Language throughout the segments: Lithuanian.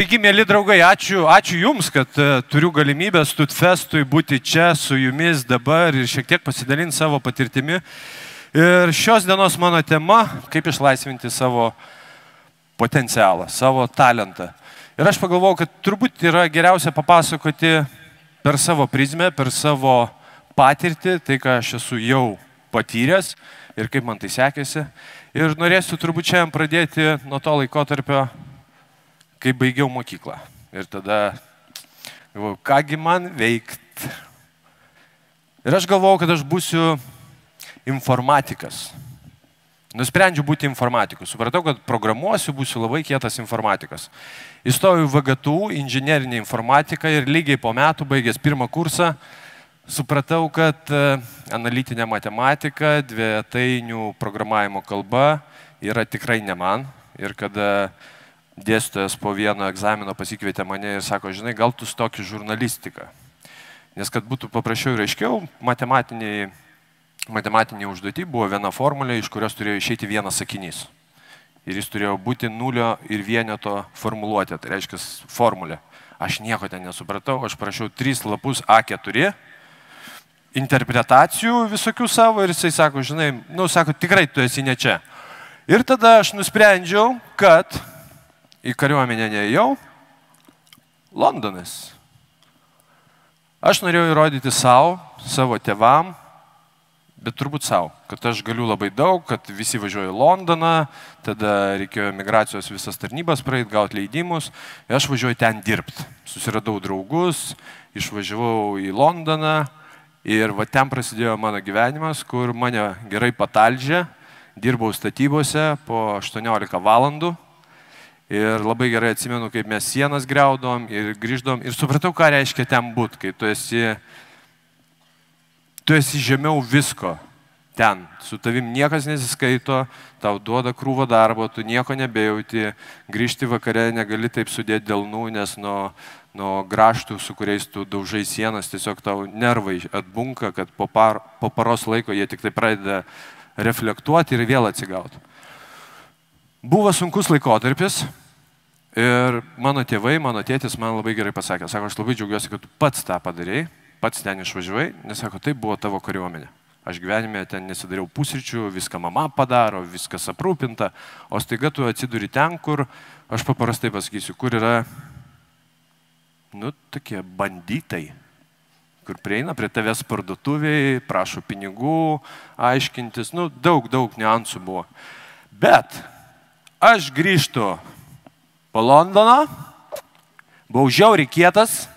Taigi, mėly draugai, ačiū Jums, kad turiu galimybę Studfestui būti čia su Jumis dabar ir šiek tiek pasidalinti savo patirtimi. Ir šios dienos mano tema - kaip išlaisvinti savo potencialą, savo talentą. Ir aš pagalvojau, kad turbūt yra geriausia papasakoti per savo prizmę, per savo patirtį, tai ką aš esu jau patyręs ir kaip man tai sekėsi. Ir norėsiu turbūt šiandien pradėti nuo to laikotarpio, kai baigiau mokyklą. Ir tada galvojau, kągi man veikt. Ir aš galvojau, kad aš būsiu informatikas. Nusprendžiau būti informatiku. Supratau, kad programuosiu, būsiu labai kietas informatikas. Įstojau į VGTU, inžinerinę informatiką ir lygiai po metų, baigęs pirmą kursą, supratau, kad analitinė matematika, dvejetainių programavimo kalba yra tikrai ne man. Ir kada dėstytojas po vieno egzamino pasikvietė mane ir sako, žinai, gal tu stok į žurnalistiką. Nes kad būtų paprasčiau ir aiškiau, matematiniai užduotį buvo viena formulė, iš kurios turėjo išeiti vienas sakinys. Ir jis turėjo būti nulio ir vieneto formuluotė, tai reiškia formulė. Aš nieko ten nesupratau, aš prašiau 3 lapus A4, interpretacijų visokių savo ir jisai sako, žinai, sako, tikrai tu esi ne čia. Ir tada aš nusprendžiau, kad į kariuomenę neėjau, Londonas. Aš norėjau įrodyti savo tėvam, bet turbūt savo, kad aš galiu labai daug, kad visi važiuoja į Londoną, tada reikėjo migracijos visas tarnybas praeit, gauti leidimus, ir aš važiuoju ten dirbti. Susiradau draugus, išvažiavau į Londoną ir va ten prasidėjo mano gyvenimas, kur mane gerai patalžė, dirbau statybose po 18 valandų. Ir labai gerai atsimenu, kaip mes sienas griaudom ir grįždom ir supratau, ką reiškia ten būt, kai tu esi žemiau visko ten. Su tavim niekas nesiskaito, tau duoda krūvą darbo, tu nieko nebejauti, grįžti vakare negali taip sudėti delnų, nes nuo graštų, su kuriais tu daužai sienas, tiesiog tau nervai atbunka, kad po paros laiko jie tik tai pradeda reflektuoti ir vėl atsigauti. Buvo sunkus laikotarpis ir mano tėvai, mano tėtis man labai gerai pasakė, sako, aš labai džiaugiuosi, kad tu pats tą padarėjai, pats ten išvažiavai, nes sako, tai buvo tavo kariuomenė. Aš gyvenime ten nesidariau pusryčių, viską mama padaro, viskas aprūpinta, o staiga tu atsiduri ten, kur, aš paprastai pasakysiu, kur yra, tokie banditai, kur prieina prie tavęs parduotuviai, prašo pinigų, aiškintis, daug niuansų buvo. Bet aš grįžtu po Londoną, buvau žiauriai kietas,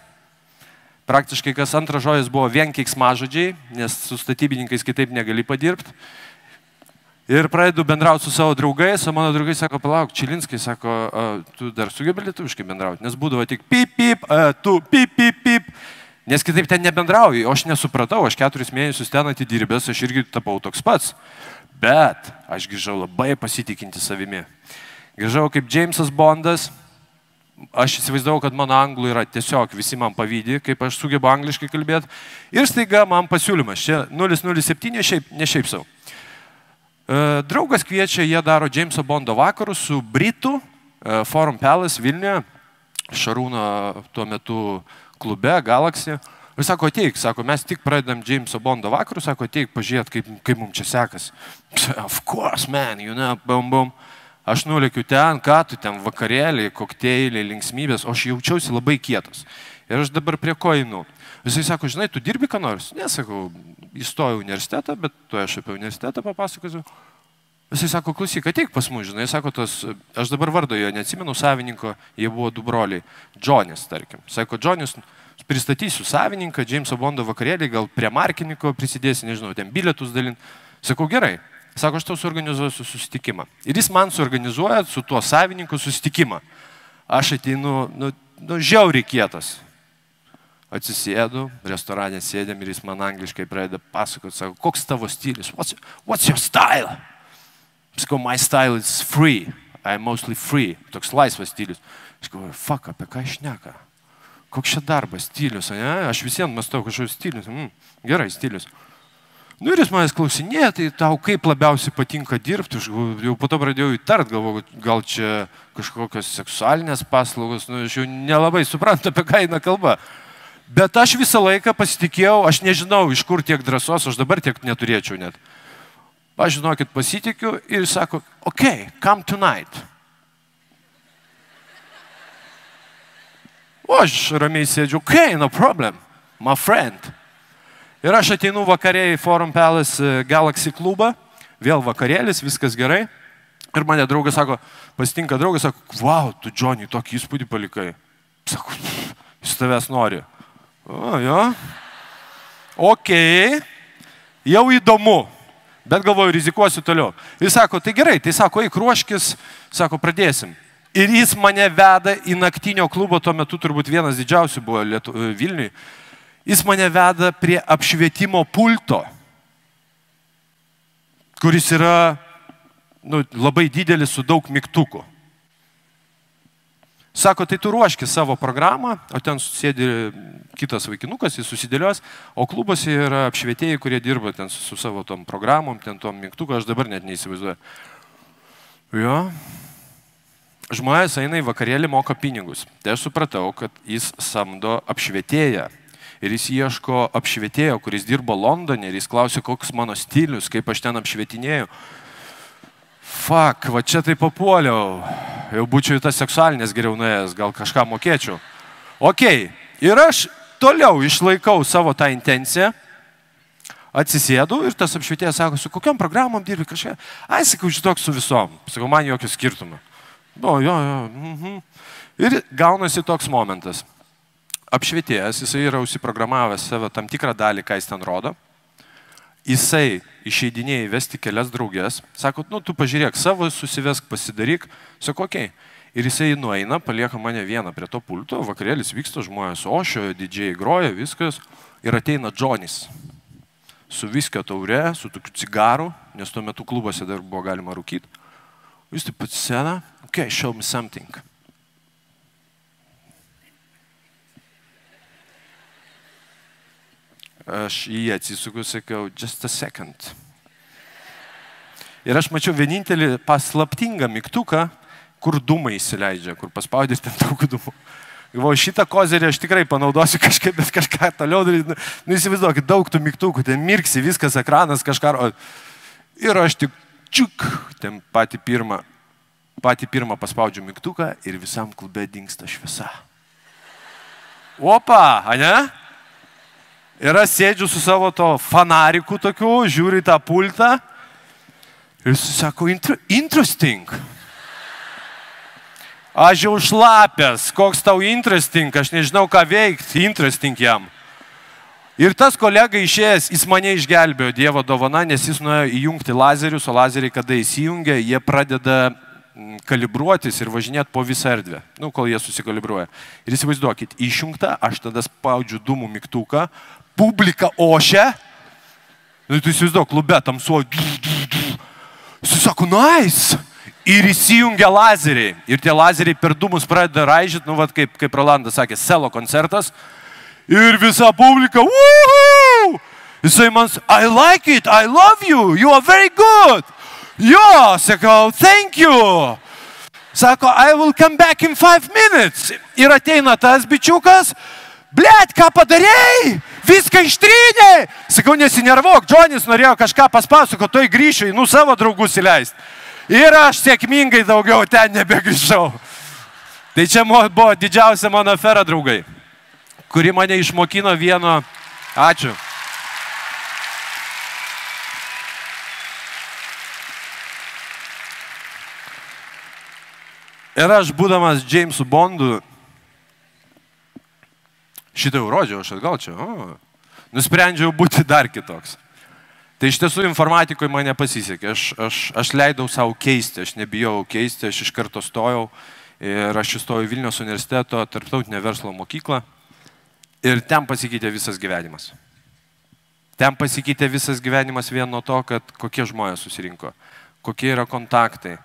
praktiškai kas antras žodis buvo vien keiksmažodžiai, nes su statybininkais kitaip negali padirbti. Ir pradedu bendrauti su savo draugais, o mano draugai sako, palauk, Čilinskai, sako, tu dar sugebi lietuviškai bendrauti, nes būdavo tik pip, pip, tu pip, pip, pip. Nes kitaip ten nebendrauju, o aš nesupratau, aš 4 mėnesius ten atidirbęs, aš irgi tapau toks pats. Bet aš grįžau labai pasitikinti savimi. Grįžau kaip Jamesas Bondas, aš įsivaizdavau, kad mano anglų yra tiesiog, visi man pavydi, kaip aš sugebu angliškai kalbėti. Ir staiga man pasiūlymas, čia 007, ne šiaip savo. Draugas kviečia, jie daro Jameso Bondo vakarus su Britų Forum Palace Vilniuje, Šarūno tuo metu klube, Galaxy. Ir sako, ateik, sako, mes tik pradedam Jameso Bondo vakarus, sako, ateik, pažiūrėt, kaip mums čia sekas. Of course, man, bum, bum. Aš nulėkiu ten, ką tu ten, vakarėliai, kokteiliai, linksmybės, o aš jaučiausi labai kietas. Ir aš dabar prie ko einu. Jisai sako, žinai, tu dirbi ką nors? Nesakau, įstojau į universitetą, bet tu aš apie universitetą papasakosiu. Jisai sako, klausyk, ateik pas mus, žinai, sako, aš dabar vardo jo neatsimenu savininko, jie buvo 2 broliai, Džonis, tarkim. Sako, Džonis, pristatysiu savininką, Jameso Bondo vakarėlį, gal prie markininko prisidėsi, nežinau, ten bilietus dalint. Sakau, gerai. Sako, aš tau suorganizuosiu susitikimą. Ir jis man suorganizuoja su tuo savininku susitikimą. Aš ateinu, žiauriai kietas. Atsisėdu, restorane sėdėm ir jis man angliškai pradeda pasakoti, sako, koks tavo stilius? What's your style? Sakau, my style is free. I'm mostly free. Toks laisvas stilius. Aš galvoju, fuck, apie ką šneka? Koks čia darbas, stilius, ne? Aš visiems mąstau kažkokius stilius. Gerai, stilius. Nu ir jis manęs klausinėja, tai tau kaip labiausiai patinka dirbti, jau po to pradėjau įtart, galvoju, gal čia kažkokios seksualinės paslaugos, nu aš jau nelabai suprantu, apie ką eina kalba. Bet aš visą laiką pasitikėjau, aš nežinau, iš kur tiek drąsos, aš dabar tiek neturėčiau net. Aš žinokit, pasitikiu ir sako, okay, come tonight. O aš ramiai sėdžiu, okay, no problem, my friend. Ir aš ateinu vakarė į Forum Palace Galaxy klubą, vėl vakarėlis, viskas gerai. Ir mane draugas sako, pasitinka draugas, sako, wow, tu, Johnny, tokį įspūdį palikai. Sako, jis tavęs nori. O, jo. Okei, jau įdomu, bet galvoju, rizikuosiu toliau. Jis sako, tai gerai, tai sako, eik ruoškis, sako, pradėsim. Ir jis mane veda į naktinio klubo, tuo metu turbūt vienas didžiausių buvo Vilniui. Jis mane veda prie apšvietimo pulto, kuris yra labai didelis su daug mygtukų. Sako, tai tu ruoški savo programą, o ten sėdi kitas vaikinukas, jis susidėlios, o klubose yra apšvietėjai, kurie dirba ten su savo tom programom, ten tom mygtuku, aš dabar net neįsivaizduoju. Jo. Žmonės eina į vakarėlį, moka pinigus. Tai aš supratau, kad jis samdo apšvietėją. Ir jis ieško apšvietėjo, kuris dirbo Londone ir jis klausė, koks mano stilius, kaip aš ten apšvietinėjau. Fuck, va čia tai papuoliau. Jau būčiau į tas seksualinės geriau nuėjęs, gal kažką mokėčiau. Okei, ir aš toliau išlaikau savo tą intenciją, atsisėdu ir tas apšvietėjas sako, su kokiam programom dirbi kažką. Ai, sakau, šitok su visom. Sakau, man jokio skirtumo. Jo. Ir gaunasi toks momentas. Apšvietėjas, jisai yra užsiprogramavęs savo tam tikrą dalį, ką jis ten rodo. Jisai išeidinėja įvesti kelias draugės. Sako, nu, tu pažiūrėk, savo susivesk, pasidaryk. Sako, okei. Ir jisai nueina, palieka mane vieną prie to pulto, vakarėlis vyksta, žmonės ošio, didžiai groja, viskas. Ir ateina Johnny's. Su viskio taure, su tokiu cigaru, nes tuo metu klubuose dar buvo galima rūkyti. Jis taip atsisėda, okay, show me something. Aš į jį atsisuku, sakiau, just a second. Ir aš mačiau vienintelį paslaptingą mygtuką, kur dūmai įsileidžia, kur paspaudys ten daug dūmų. Galvoju, šitą kozerį aš tikrai panaudosiu kažkaip, bet kažką toliau daryti. Nu, įsivaizduokit, daug tų mygtukų, ten mirksi, viskas, ekranas, kažką. Ir aš tik čiuk, ten patį pirmą paspaudžiu mygtuką ir visam klube dingsta šviesa. Opa, ane? Ir aš sėdžiu su savo to fanariku tokiu, žiūriu į tą pultą ir jis sako, interesting. Aš jau šlapęs, koks tau interesting, aš nežinau ką veikti, interesting jam. Ir tas kolega išėjęs, jis mane išgelbėjo, Dievo dovana, nes jis nuėjo įjungti lazerius, o lazeriai, kada įsijungia, jie pradeda kalibruotis ir važinėti po visą erdvę, nu, kol jie susikalibruoja. Ir įsivaizduokit, išjungta, aš tada spaudžiu dūmų mygtuką, publika ošia, nu, tu įsivaizduok, klube tamsuoju, jis sako, nice, ir įsijungia lazeriai, ir tie lazeriai per dūmus pradeda raižyti, nu, vat, kaip Rolandas sakė, selo koncertas, ir visa publika, woohoo! Jisai man, I like it, I love you, you are very good. Jo, sakau, thank you. Sako, I will come back in 5 minutes. Ir ateina tas bičiukas, blet, ką padarėjai? Viską ištrynė. Sakau, nesinervuok, Johnny's norėjo kažką paspasakoti, toj grįšiu, nu savo draugus įleisti. Ir aš sėkmingai daugiau ten nebegrįžau. Tai čia buvo didžiausia mano afera, draugai, kuri mane išmokino vieno. Ačiū. Ir aš, būdamas Jamesu Bondu, šitą jau rodžiau, aš atgal čia, nusprendžiau būti dar kitoks. Tai iš tiesų informatikoje man nepasisekė, aš leidau savo keisti, aš nebijau keisti, aš iš karto stojau ir aš įstojau į Vilniaus universiteto tarptautinę verslo mokyklą ir ten pasikeitė visas gyvenimas. Ten pasikeitė visas gyvenimas vien nuo to, kad kokie žmonės susirinko, kokie yra kontaktai.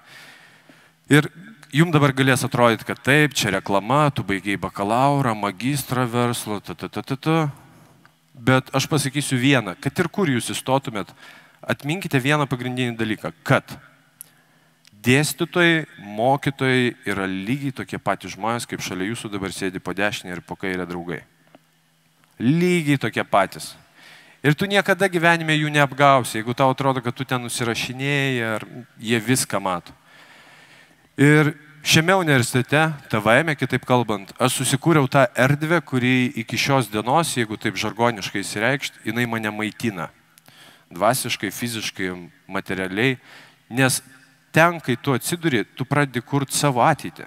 Ir jums dabar galės atrodyti, kad taip, čia reklama, tu baigiai bakalaurą, magistrą verslo, bet aš pasakysiu vieną, kad ir kur jūs įstotumėt, atminkite vieną pagrindinį dalyką, kad dėstytojai, mokytojai yra lygiai tokie patys žmonės, kaip šalia jūsų dabar sėdi po dešinę ir po kairę draugai. Lygiai tokie patys. Ir tu niekada gyvenime jų neapgausi, jeigu tau atrodo, kad tu ten nusirašinėjai, ar jie viską mato. Ir šiame universitete, TVM, kitaip kalbant, aš susikūriau tą erdvę, kuri iki šios dienos, jeigu taip žargoniškai įsireikšt, jinai mane maitina. Dvasiškai, fiziškai, materialiai. Nes ten, kai tu atsiduri, tu pradedi kurti savo ateitį.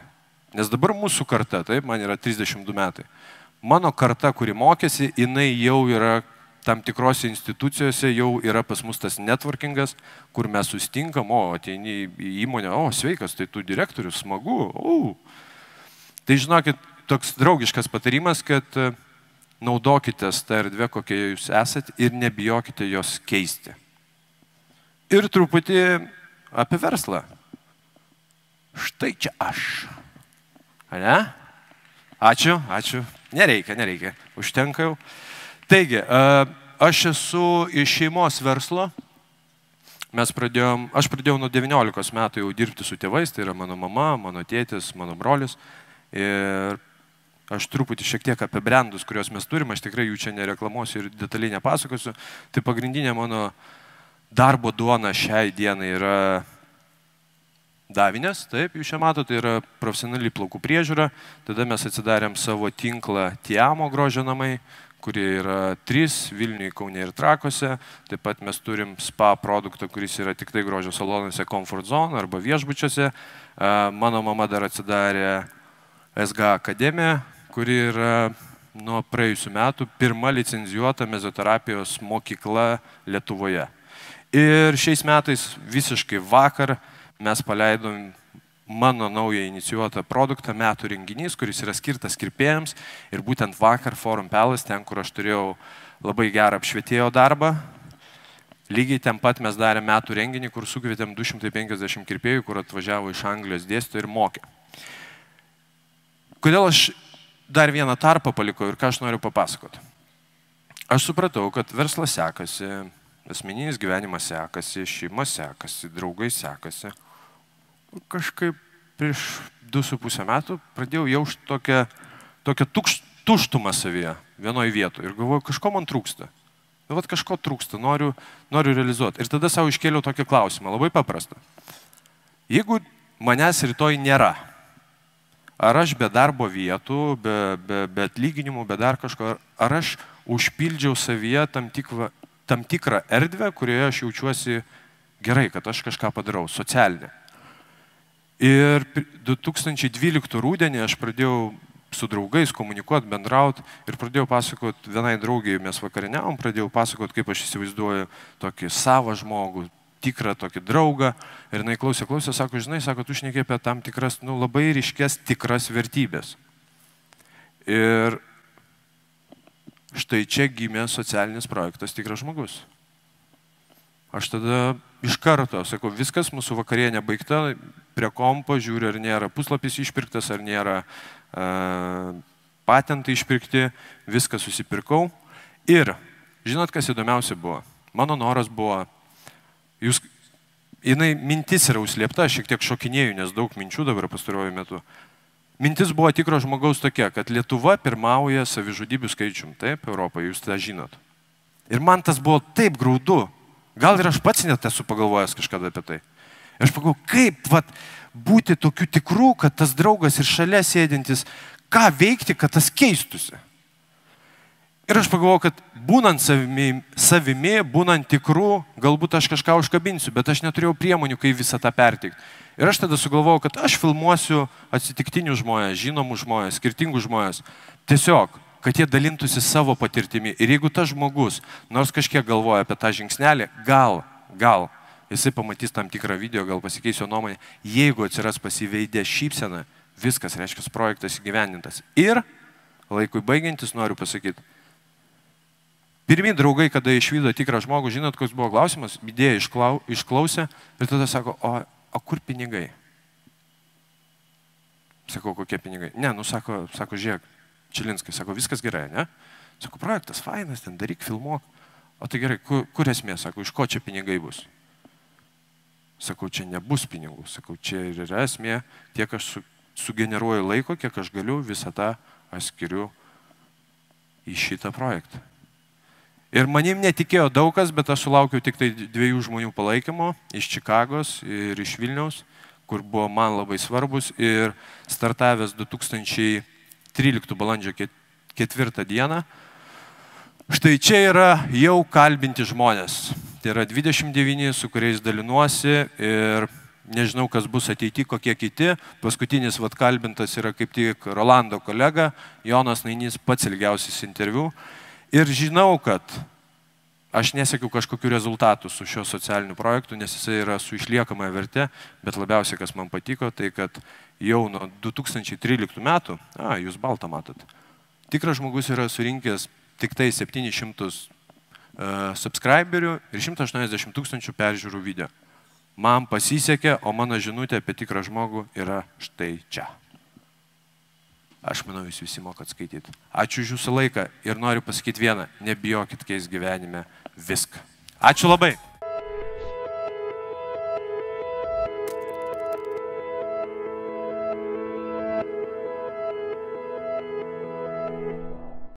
Nes dabar mūsų karta, taip, man yra 32 metai. Mano karta, kuri mokėsi, jinai jau yra tam tikrose institucijose, jau yra pas mus tas networkingas, kur mes sustinkam, ateini į įmonę, sveikas, tai tu direktorius, smagu, Tai žinokit, toks draugiškas patarimas, kad naudokitės tą erdvę, kokie jūs esat ir nebijokite jos keisti. Ir truputį apie verslą. Štai čia aš. Ane? Ačiū. Nereikia. Užtenka jau. Taigi, aš esu iš šeimos verslo. Aš pradėjau nuo 19 metų jau dirbti su tėvais, tai yra mano mama, mano tėtis, mano brolis. Ir aš truputį šiek tiek apie brandus, kuriuos mes turim, aš tikrai jų čia nereklamuosiu ir detaliai nepasakosiu. Tai pagrindinė mano darbo duona šiai dienai yra davinės, taip, jūs čia matote, tai yra profesionali plaukų priežiūra. Tada mes atsidarėm savo tinklą Tiamo grožio namai, kurie yra 3 Vilniuje, Kaune ir Trakuose. Taip pat mes turim spa produktą, kuris yra tik tai grožio salonuose Comfort Zone arba viešbučiuose. Mano mama dar atsidarė SGA akademiją, kuri yra nuo praėjusių metų pirma licenzijuota mezoterapijos mokykla Lietuvoje. Ir šiais metais visiškai vakar mes paleidom mano naują inicijuotą produktą metų renginys, kuris yra skirtas kirpėjams. Ir būtent vakar Forum Palace, ten, kur aš turėjau labai gerą apšvietėjo darbą, lygiai ten pat mes darėm metų renginį, kur sukvietėm 250 kirpėjų, kur atvažiavo iš Anglijos dėstytojų ir mokė. Kodėl aš dar vieną tarpą palikau ir ką aš noriu papasakoti? Aš supratau, kad verslas sekasi, asmeninis gyvenimas sekasi, šeima sekasi, draugai sekasi. Kažkaip prieš 2,5 metų pradėjau jausti tokią tuštumą savyje vienoje vietoje ir galvoju, kažko man trūksta. Kažko trūksta, noriu realizuoti. Ir tada savo iškėliau tokį klausimą, labai paprastą. Jeigu manęs rytoj nėra, ar aš be darbo vietų, be atlyginimų, be dar kažko, ar aš užpildžiau savyje tam tikrą erdvę, kurioje aš jaučiuosi gerai, kad aš kažką padarau, socialinę. Ir 2012 rudenį aš pradėjau su draugais komunikuoti, bendrauti ir pradėjau pasakoti vienai draugiai, mes vakarieniavom, pradėjau pasakoti, kaip aš įsivaizduoju tokį savą žmogų, tikrą tokį draugą. Ir jinai klausė, sako, žinai, tu šneki apie tam tikras, labai ryškės tikras vertybės. Ir štai čia gimė socialinis projektas Tikras žmogus. Aš tada iš karto sakau, viskas, mūsų vakarienė baigta, prie kompo žiūriu, ar nėra puslapis išpirktas, ar nėra patentai išpirkti, viską susipirkau. Ir žinot, kas įdomiausia buvo? Mano noras buvo, mintis yra užslėpta, aš šiek tiek šokinėjau, nes daug minčių dabar pastaruoju metu. Mintis buvo Tikro žmogaus tokia, kad Lietuva pirmauja savižudybių skaičium, taip, Europoje, jūs tą žinot. Ir man tas buvo taip graudu. Gal ir aš pats net esu pagalvojęs kažkada apie tai. Ir aš pagalvojau, kaip būti tokiu tikru, kad tas draugas ir šalia sėdintis, ką veikti, kad tas keistusi. Ir aš pagalvojau, kad būnant savimi, būnant tikru, galbūt aš kažką užkabinsiu, bet aš neturėjau priemonių, kaip visą tą perteikti. Ir aš tada sugalvojau, kad aš filmuosiu atsitiktinius žmonės, žinomus žmonės, skirtingus žmonės. Tiesiog, kad jie dalintųsi savo patirtimi. Ir jeigu tas žmogus, nors kažkiek galvoja apie tą žingsnelį, gal, jisai pamatys tam tikrą video, gal pasikeis jo nuomonę, jeigu atsiras pasiveidė šypsena, viskas, reiškia, projektas įgyvendintas. Ir laikui baigiantis noriu pasakyti, pirmi draugai, kada išvydo Tikrą žmogų, žinot, koks buvo klausimas, idėją išklausė ir tada sako, o kur pinigai? Sakau, kokie pinigai? Ne, sako, žiūrėk, Čilinskai, sako, viskas gerai, ne? Sakau, projektas fainas, ten daryk, filmuok. O tai gerai, kur esmė? Sakau, iš ko čia pinigai bus? Sakau, čia nebus pinigų. Sakau, čia ir yra esmė, tiek aš sugeneruoju laiko, kiek aš galiu, visą tą aš skiriu į šitą projektą. Ir manim netikėjo daug kas, bet aš sulaukiau tik tai 2 žmonių palaikymo iš Čikagos ir iš Vilniaus, kur buvo man labai svarbus. Ir startavęs 2013 balandžio 4 dieną, štai čia yra jau kalbinti žmonės. Tai yra 29, su kuriais dalinuosi ir nežinau, kas bus ateity, kokie kiti. Paskutinis kalbintas yra kaip tik Rolando kolega, Jonas Nainys, pats ilgiausias interviu. Ir žinau, kad aš nesiekiu kažkokių rezultatų su šiuo socialiniu projektu, nes jisai yra su išliekamąją vertę, bet labiausiai, kas man patiko, tai kad jau nuo 2013 metų, jūs baltą matot, tikras žmogus yra surinkęs tik tai 700 subscriberių ir 180 000 peržiūrų video. Man pasisekė, o mano žinutė apie tikrą žmogų yra štai čia. Aš manau, jūs visi mokat skaityti. Ačiū už jūsų laiką ir noriu pasakyti vieną, nebijokit keisti gyvenime viską. Ačiū labai.